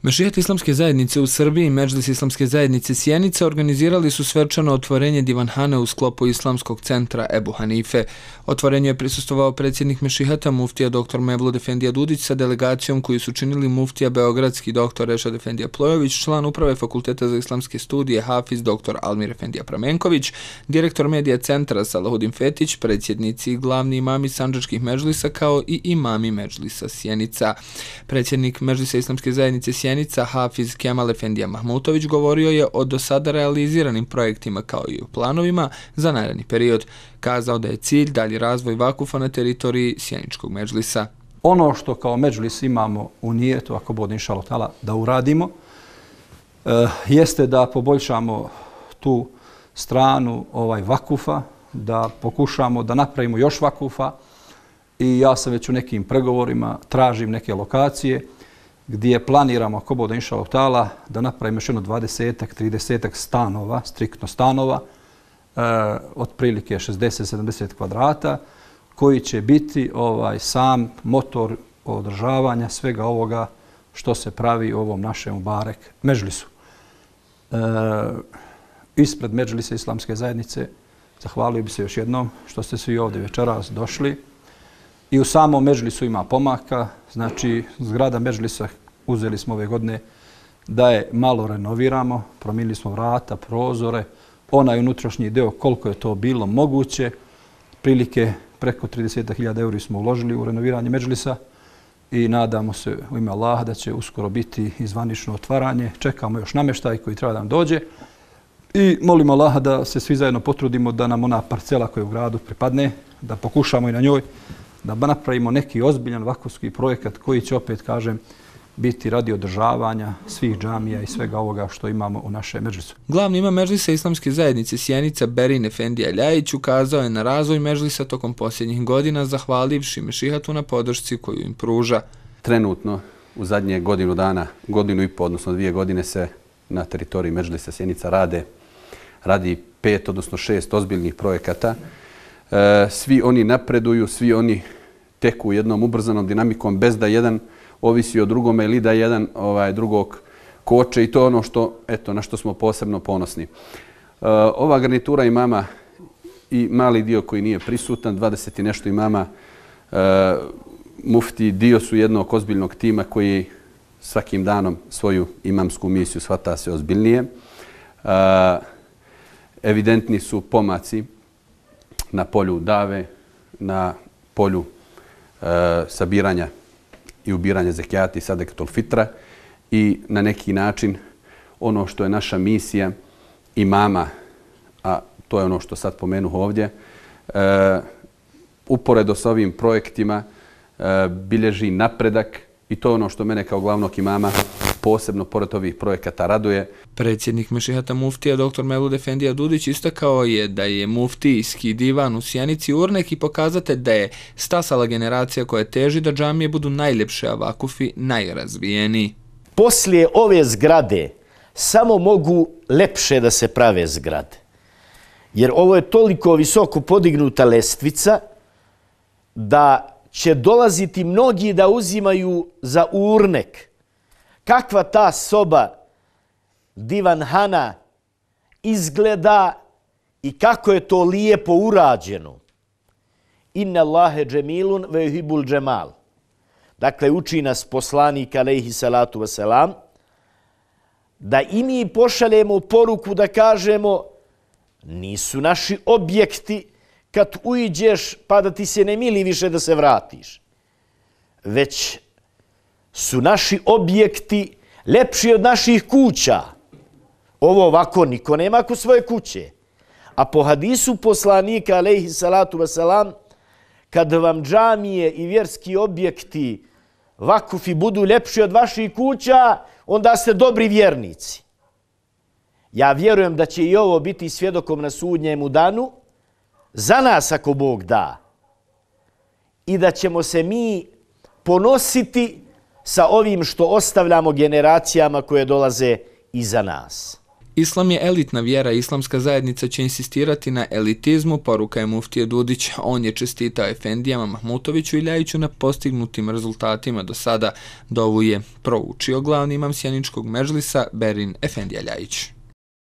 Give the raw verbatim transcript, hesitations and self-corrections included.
Mešihat islamske zajednice u Srbiji i Medžlis islamske zajednice Sjenica organizirali su svečano otvorenje divanhane u sklopu Islamskog centra Ebu Hanife. Otvorenju je prisustvovao predsjednik Mešihata muftija doktor Mevlud Efendija Dudić sa delegacijom koju su činili muftija beogradski doktor Rešad Efendija Plojović, član uprave Fakulteta za islamske studije Hafiz doktor Almir Efendija Pramenković, direktor medija centra Salahudin Fetić, predsjednici i glavni imami sandžačkih medžlisa kao i imami Medžlisa Sjenica. Predsjednik Medžlisa islamske zajednice Sjenica Hafiz Kemal Efendija Mahmutović govorio je o do sada realiziranim projektima kao i o planovima za naredni period. Kazao da je cilj dalji razvoj vakufa na teritoriji Sjeničkog medžlisa. Ono što kao medžlis imamo u nijetu, ako bude inšallah ta'ala, da uradimo, e, jeste da poboljšamo tu stranu ovaj vakufa, da pokušamo da napravimo još vakufa i ja sam već u nekim pregovorima, tražim neke lokacije gdje planiramo, ako bude inšallah ta'ala, da napravimo još jedno dvadesetak, tridesetak stanova, striktno stanova, e, otprilike šezdeset do sedamdeset kvadrata, koji će biti ovaj sam motor održavanja svega ovoga što se pravi u ovom našem Mubarek medžlisu. E, ispred Medžlisa islamske zajednice zahvalio bi se još jednom što ste svi ovdje večeras došli. I u samom medžlisu ima pomaka, znači zgrada medžlisa uzeli smo ove godine da je malo renoviramo, promijenili smo vrata, prozore, onaj unutrašnji deo koliko je to bilo moguće, prilike preko trideset hiljada eura smo uložili u renoviranje medžlisa i nadamo se u ime Allaha da će uskoro biti i zvanično otvaranje. Čekamo još namještaj koji treba da nam dođe i molimo Allaha da se svi zajedno potrudimo da nam ona parcela koja u gradu pripadne, da pokušamo i na njoj da napravimo neki ozbiljan vakufski projekat koji će, opet kažem, biti radi održavanja svih džamija i svega ovoga što imamo u našem medžlisu. Glavni imam Medžlisa islamske zajednice Sjenica Berin Efendija Ljajić ukazao je na razvoj medžlisa tokom posljednjih godina, zahvalivši Mešihatu na podršci koju im pruža. Trenutno u zadnje godinu dana, godinu i po, odnosno dvije godine se na teritoriji Medžlisa Sjenica rade, radi pet, odnosno šest ozbiljnih projekata. E, svi oni napreduju, svi oni teku jednom ubrzanom dinamikom bez da jedan ovisi o drugome ili da jedan ovaj, drugog koče i to je ono što, eto, na što smo posebno ponosni. E, ova garnitura imama i mali dio koji nije prisutan, dvadeset i nešto imama, e, mufti dio su jednog ozbiljnog tima koji svakim danom svoju imamsku misiju shvata se ozbiljnije. E, evidentni su pomaci na polju dave, na polju e, sabiranja i ubiranja zekijata i sadekatul fitra i na neki način ono što je naša misija imama, a to je ono što sad pomenuh ovdje, e, uporedo sa ovim projektima e, bilježi napredak i to je ono što mene kao glavnog imama posebno pored ovih projekata raduje. Predsjednik Mešihata muftija doktor Mevlud Efendija Dudić istakao je da je muftijski divan u Sjenici urnek i pokazatelj da je stasala generacija koja teži da džamije budu najljepše, a vakufi najrazvijeniji. Poslije ove zgrade samo mogu lepše da se prave zgrade. Jer ovo je toliko visoko podignuta lestvica da će dolaziti mnogi da uzimaju za urnek. Kakva ta soba divanhana izgleda i kako je to lijepo urađeno. Inna Allahe džemilun ve yuhibbul džemal. Dakle, uči nas poslanik alejhi salatu wasalam da i mi pošaljemo poruku da kažemo nisu naši objekti kad uđeš pa da ti se ne mili više da se vratiš. Već su naši objekti lepši od naših kuća. Ovo ovako niko nema kod svoje kuće. A po hadisu poslanika alejhi salatu wasalam, kad vam džamije i vjerski objekti vakufi budu lepši od vaših kuća, onda ste dobri vjernici. Ja vjerujem da će i ovo biti svjedokom na sudnjemu danu, za nas ako Bog da. I da ćemo se mi ponositi sa ovim što ostavljamo generacijama koje dolaze iza nas. Islam je elitna vjera, islamska zajednica će insistirati na elitizmu, poruka je muftije Dudić. On je čestitao efendijama Mahmutoviću i Ljajiću na postignutim rezultatima do sada. Dovu je proučio glavni imam sjeničkog medžlisa Berin Efendija Ljajić.